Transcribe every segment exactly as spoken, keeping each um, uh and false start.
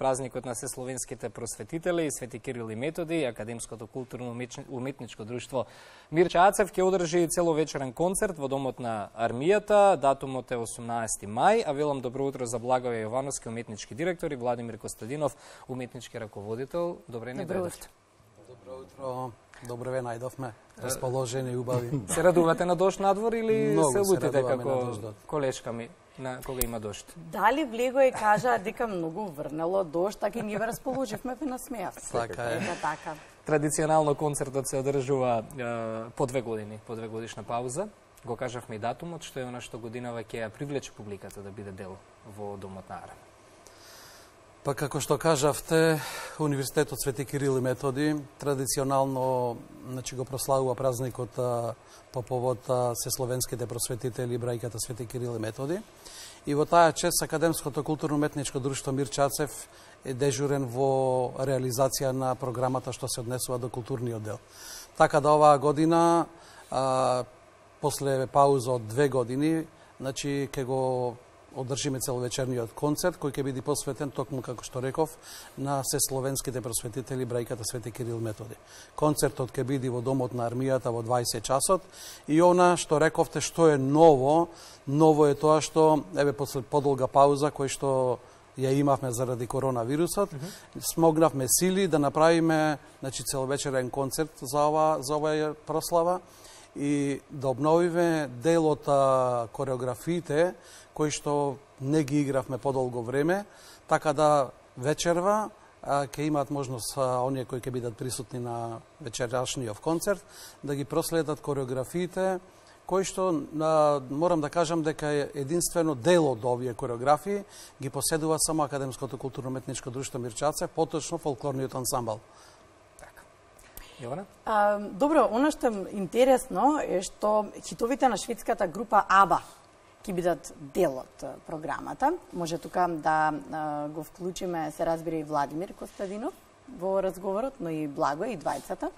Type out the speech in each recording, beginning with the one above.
празникот на сесловенските просветители Свети Кирил и Методи, Академското културно-уметничко друштво Мирча Ацев ќе одржи целовечерен концерт во Домот на армијата. Датумот е осумнаесети мај, а велам добро утро за Благоје Јовановски, уметнички директор, и Владимир Костадинов, уметнички раководител. Добре не дојдовте. Добро утро. Добро ве најдовме. Расположени и убави. Се радувате на дожд надвор или Многу се лутите како на колешка ми на кога има дожд? Дали Влегој кажа дека многу врнело дожд, така и ние ве расположивме, ве насмеавте. Така е. Ето така. Традиционално концертот се одржува е, по две години, по две годишна пауза. Го кажавме и датумот, што е она што годинава ќе ја привлече публиката да биде дел во Домот на армијата. Па како што кажавте, Универзитетот Свети Кирил и Методи традиционално, значи, го прославува празникот по повод сесловенските просветители брајката Свети Кирил и Методи. И во таа чест Академското културно-уметничко друштво Мирча Ацев е дежурен во реализација на програмата што се однесува до културниот дел. Така да оваа година, а, после пауза од две години, значи ќе го одржиме целовечерниот концерт, кој ќе биде посветен, токму како што реков, на сесловенските просветители брајката Свети Кирил Методи. Концертот ќе биде во Домот на армијата во дваесет часот и она што рековте што е ново, ново е тоа што, еве, после подолга пауза кој што ја имавме заради коронавирусот, mm -hmm. смогнавме сили да направиме, значи, целовечерен концерт за ова за оваа прослава и да обновиме дел од кореографиите кои што не ги игравме подолго време, така да вечерва ќе имаат можност оние кои ќе бидат присутни на вечерашниот концерт да ги проследат кореографиите кои што, морам да кажам дека единствено дел од овие кореографии ги поседува само Академското културно-уметничко друштво Мирча Ацев, поточно фолклорниот ансамбл. Јована? А, добро, она што е интересно е што хитовите на шведската група АБА ќе бидат дел од програмата. Може тука да а, го вклучиме, се разбира, и Владимир Костадинов во разговорот, но и Благој, и двајцата.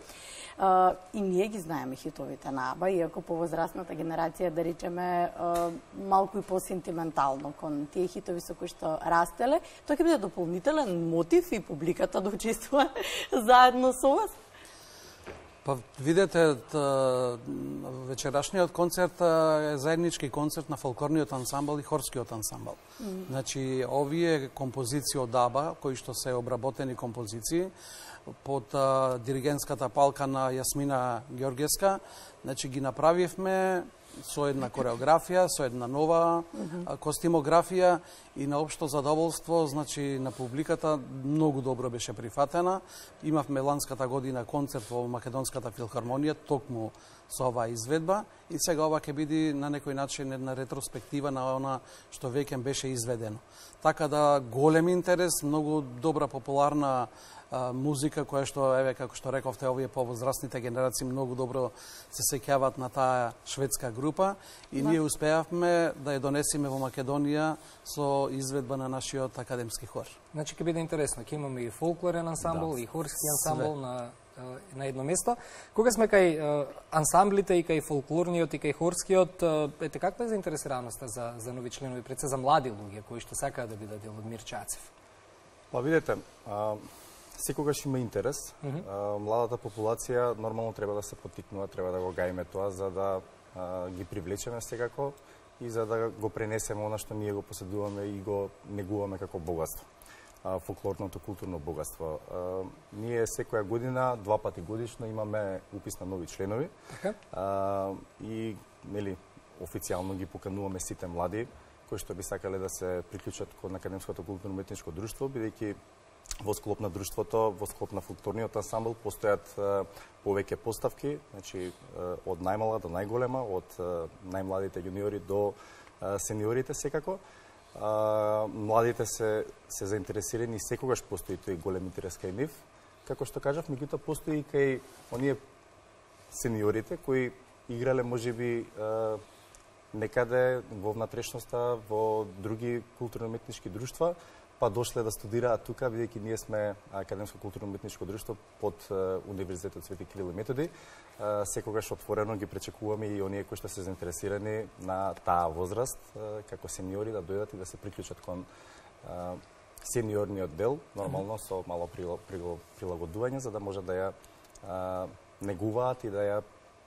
А, и ние ги знаеме хитовите на АБА, иако повозрастната генерација, да речеме, а, малку и по-сентиментално кон тие хитови со кои што растеле. Тоа ќе биде дополнителен мотив и публиката да учествува заедно со вас. Па видете, вечерашниот концерт е заеднички концерт на фолклорниот ансамбл и хорскиот ансамбл. Mm -hmm. Значи, овие композиции од АБА, кои што се обработени композиции, под а, диригентската палка на Јасмина Ѓоргеска, значи ги направивме со една кореографија, со една нова mm -hmm. костимографија и на општо задоволство, значи на публиката многу добро беше прифатена. Имавме ланската година концерт во Македонската филхармонија токму со оваа изведба и сега ова ќе биде на некој начин една ретроспектива на она што веќе беше изведено. Така да голем интерес, многу добра популарна музика која што, еве, како што рековте, овие повозрастните генерации многу добро се сеќаваат на таа шведска група и ние успеавме да ја донесеме во Македонија со изведба на нашиот академски хор. Значи ќе биде интересно, ќе имаме и фолклорен ансамбл, да, и хорски ансамбл на на едно место. Кога сме кај ансамблите и кај фолклорниот и кај хорскиот, ете, каква е заинтересираноста за за нови членови, пред се за млади луѓе кои што сакаат да бидат дел од Мирча Ацев? Па видете, а, секогаш има интерес. Mm -hmm. а, младата популација нормално треба да се поттикнува, треба да го гајме тоа за да а, ги привлечеме секако и за да го пренесеме она што ние го поседуваме и го негуваме како богатство. А, фолклорното културно богатство. А, ние секоја година, два пати годишно имаме упис на нови членови. Okay. А, и нели официјално ги покануваме сите млади кои што би сакале да се приклучат кон Академското културно-уметничко друштво, бидејќи во склоп на друштвото, во склоп на фолклорниот ансамбл постојат а, повеќе поставки, значи а, од најмала до најголема, од а, најмладите јуниори до а, сениорите секако. А, младите се се заинтересирани и секогаш постои тој голем интерес кај нив. Како што кажав, меѓутоа постои и кај оние сениорите кои играле можеби а, некаде во внатрешноста, во други културно-уметнички друштва, па дошле да студираат тука, бидејќи ние сме Академско културно-уметничко друштво под Универзитетот Свети Кирил и Методи. Секогаш отворено ги пречекуваме и оние кои што се заинтересирани на таа возраст, како сениори, да дојдат и да се приклучат кон сениорниот дел, нормално со мало прилагодување, за да може да ја а, негуваат и да ја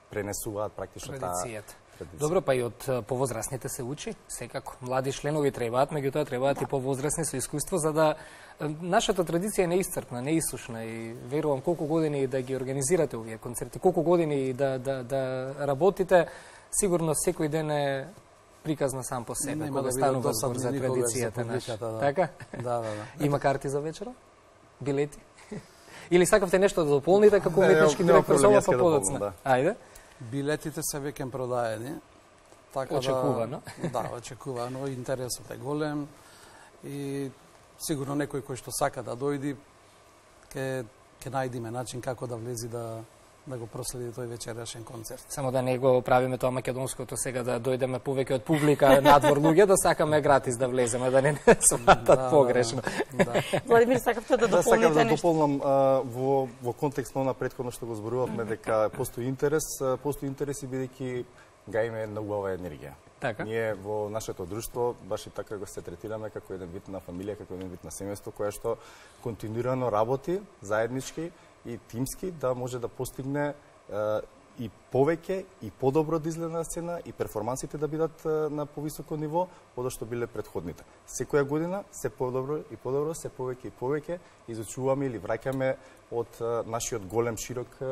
пренесуваат практично таа традицијата. Добро, па и од повозрасните се учи, секако. Млади членови требаат, меѓутоа требаат и повозрасни со искуство, за да нашата традиција е неисцрпна, неисушна и верувам колку години да ги организирате овие концерти, колку години да, да, да работите, сигурно секој ден е приказна сам по себе, кога да станува збор за традицијата наша. Да. Така? Да, да, да. Има карти за вечера? Билети? Или сакавте нешто да дополните како уметнички директор со ова па подоцна? Да. Ајде. Билетите се веќе продаени. Така очекувано. Да, да, очекувано. Интересот е голем и сигурно некој кој што сака да дојди ќе ќе најдиме начин како да влези да да го проследи тој вечерашен концерт. Само да не го правиме тоа македонското сега да дојдеме повеќе од публика надвор луѓе да сакаме гратис да влеземе, да не сватат да, погрешно. Да, да. Владимир, сакавте да дополните нешто? Да, сакам да нешто? дополнам а, во во контекст на претходно што го зборувавме дека постои интерес, постои интерес и бидејќи гаиме една убава енергија. Така. Ние во нашето друштво баш и така го се третираме како еден вид на фамилија, како еден вид на семејство кое што континуирано работи заеднички и тимски да може да постигне е, и повеќе и подобро да изгледа на сцена и перформансите да бидат е, на повисоко ниво од што биле претходните. Секоја година се подобро и подобро, се повеќе и повеќе изучуваме или враќаме од е, нашиот голем широк е,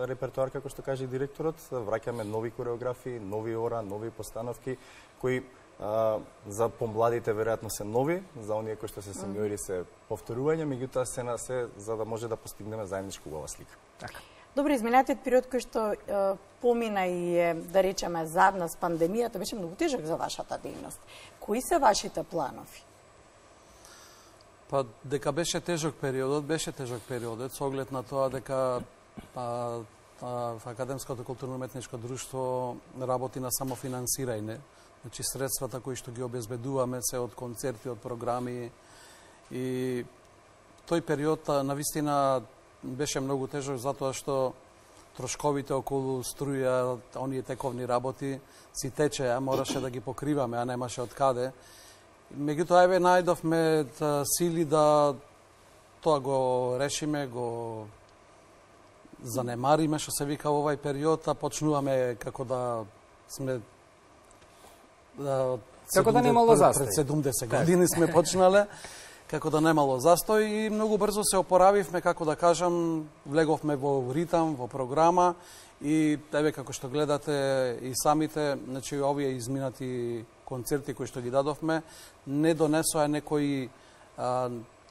репертоар, како што каже директорот, враќаме нови кореографии, нови ора, нови постановки кои Uh, за помладите веројатно се нови, за оние кои што се сениори се повторување, меѓутоа се на се за да може да постигнеме заедничка убава слика. Така. Добро, изминатиот период кој што е, помина и е, да речеме, задна с пандемијата, беше многу тежок за вашата дејност. Кои се вашите планови? Па дека беше тежок периодот, беше тежок периодот, со оглед на тоа дека па, па, Академското културно-уметничко друштво работи на самофинансирање. Значи, средствата кои што ги обезбедуваме се од концерти, од програми и тој период навистина беше многу тежок затоа што трошковите околу струја, оние тековни работи си течеа, мораше да ги покриваме, а немаше од каде. Меѓутоа еве најдовме сили да тоа го решиме, го занемариме што се вика во овај период, а почнуваме како да сме како да немало застој. Пред седумдесет години сме почнале, како да немало застој и многу брзо се опоравивме, како да кажам, влеговме во ритам, во програма и еве како што гледате и самите, значи овие изминати концерти кои што ги дадовме не донесоа некој а,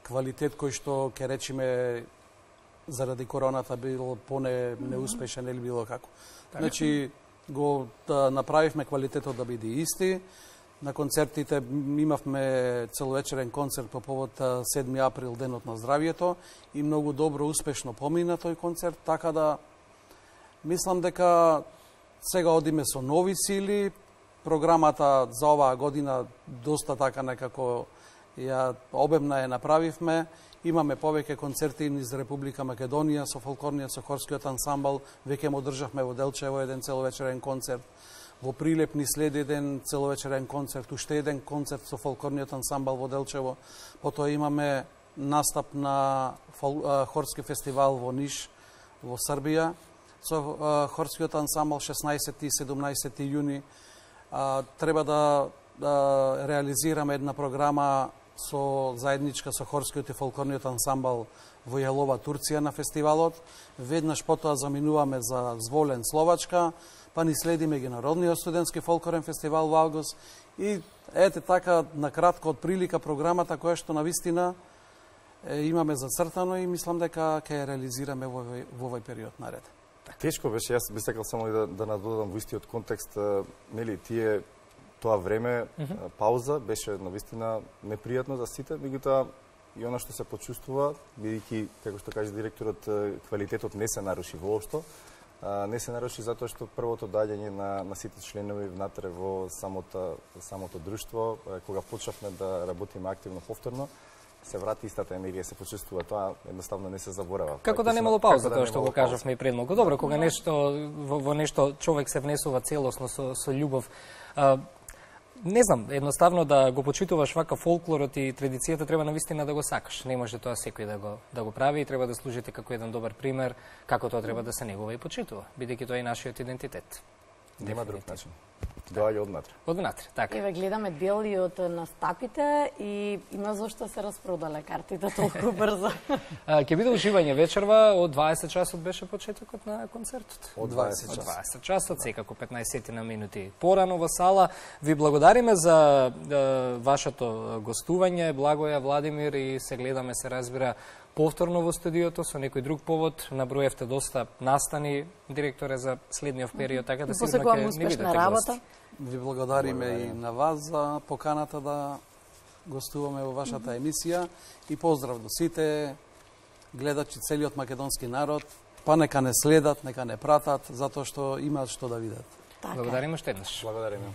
квалитет кој што ќе речеме заради короната бил поне неуспешен или било како. Значи го да направивме квалитетот да биде исти. На концертите имавме целовечерен концерт по повод седми април, денот на здравието и многу добро, успешно помина тој концерт, така да мислам дека сега одиме со нови сили. Програмата за оваа година доста така некако ја обемна ја направивме. Имаме повеќе концерти низ Република Македонија со фолклорниот, со хорскиот ансамбл. Веќе му одржавме во Делчево еден целовечерен концерт. Во Прилеп ни следи еден целовечерен концерт, уште еден концерт со фолклорниот ансамбл во Делчево. Потоа имаме настап на фол, а, хорски фестивал во Ниш, во Србија, со а, хорскиот ансамбл шеснаесети и седумнаесети јуни. А, треба да, да реализираме една програма со заедничка со хорскиот и фолклорниот ансамбл во Јалова, Турција на фестивалот. Веднаш потоа заминуваме за Зволен, Словачка, па ни следи меѓународниот студентски фолклорен фестивал во август и ете така на кратко од прилика програмата која што навистина е, имаме зацртано и мислам дека ќе ја реализираме во овој, во овој период наред. Тешко беше, јас би сакал само да, да надодам во истиот контекст, нели, тие тоа време, mm -hmm. пауза, беше навистина непријатно за сите, меѓутоа и она што се почувствува, бидејќи, како што каже директорот, квалитетот не се наруши воопшто, не се наруши затоа што првото доаѓање на, на сите членови внатре во самото, самото друштво, кога почнавме да работиме активно повторно, се врати истата енергија, се почувствува тоа, едноставно не се заборава. Како да немало пауза, тоа што го кажавме и пред многу. Добро, кога нешто во, во нешто човек се внесува целосно со, со љубов, а, не знам, едноставно да го почитуваш вака фолклорот и традицијата треба навистина да го сакаш. Не може тоа секој да го да го прави и треба да служите како еден добар пример како тоа треба да се негува и почитува, бидејќи тоа е нашиот идентитет. Нема друг начин. Доаѓа однатре. Однатре, така. Еве гледаме дели од настапите и има зошто се распродале картите толку брзо. Ќе биде уживање вечерва, од дваесет часот беше почетокот на концертот. Од дваесет Од часот. дваесет часот, секако петнаесет на минути порано во сала. Ви благодариме за е, вашето гостување, Благоја, Владимир, и се гледаме, се разбира, повторно во студиото со некој друг повод. Наброевте доста настани, директоре, за следниот период, така да сигурно ќе не бидете гости. Ви благодариме и на вас за поканата да гостуваме во вашата емисија и поздрав до сите гледачи, целиот македонски народ. Па нека не следат, нека не пратат, затоа што имаат што да видат. Така. Благодариме уште еднаш. Благодариме.